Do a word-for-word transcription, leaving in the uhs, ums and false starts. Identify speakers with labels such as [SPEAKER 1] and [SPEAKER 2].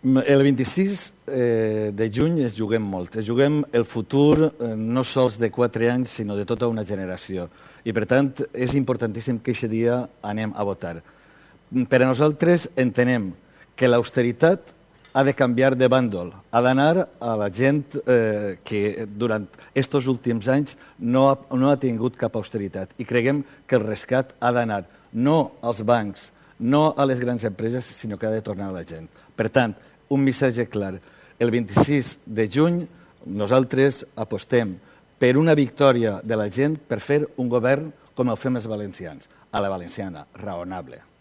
[SPEAKER 1] El vint-i-sis de juny es juguem molt. Es juguem el futur no sols de quatre anys, sinó de tota una generació. I, per tant, és importantíssim que aquest dia anem a votar. Per a nosaltres entenem que l'austeritat ha de canviar de bàndol, ha d'anar a la gent eh, que durant aquests últims anys no ha, no ha tingut cap austeritat. I creguem que el rescat ha d'anar no als bancs, no a les grans empreses, sinó que ha de tornar a la gent. Per tant, un missatge clar. El vint-i-sis de juny nosaltres apostem per una victòria de la gent per fer un govern com el fem els valencians, a la valenciana, raonable.